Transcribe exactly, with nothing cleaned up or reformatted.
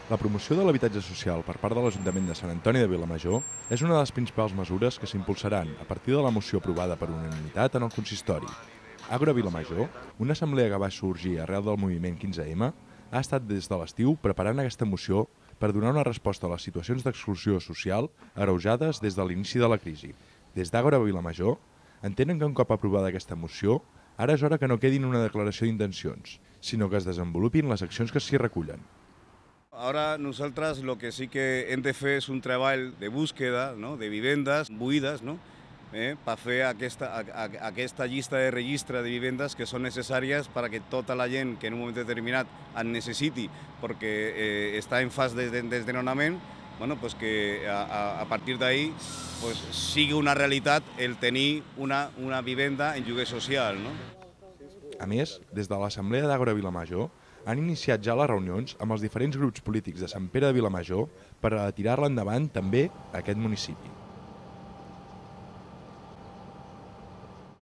La promoció de l'habitatge social per part de l'Ajuntament de Sant Antoni de Vilamajor és una de les principals mesures que s'impulsaran a partir de la moció aprovada per unanimitat en el consistori. Agora Vilamajor, una assemblea que va sorgir arrel del moviment quinze ema, ha estat des de l'estiu preparant aquesta moció per donar una resposta a les situacions d'exclusió social agreujades des de l'inici de la crisi. Des d'Agora Vilamajor entenen que un cop aprovada aquesta moció, ara és hora que no quedin una declaració d'intencions, sinó que es desenvolupin les accions que s'hi recullen. Ahora nosotras lo que sí que hem de fer és un treball de búsqueda, no?, de vivendes buides, no?, eh, per fer aquesta, a, a, aquesta llista de registre de vivendes que són necessàries per a que tota la gent que en un moment determinat en necessiti perquè eh, està en fase de desnonament, bueno, pues que a, a, a partir d'ahí pues, sigui una realitat el tenir una, una vivenda en lloguer social, no? A més, des de l'Assemblea d'Agora Vilamajor han iniciat ja les reunions amb els diferents grups polítics de Sant Pere de Vilamajor per a tirar-la endavant també a aquest municipi.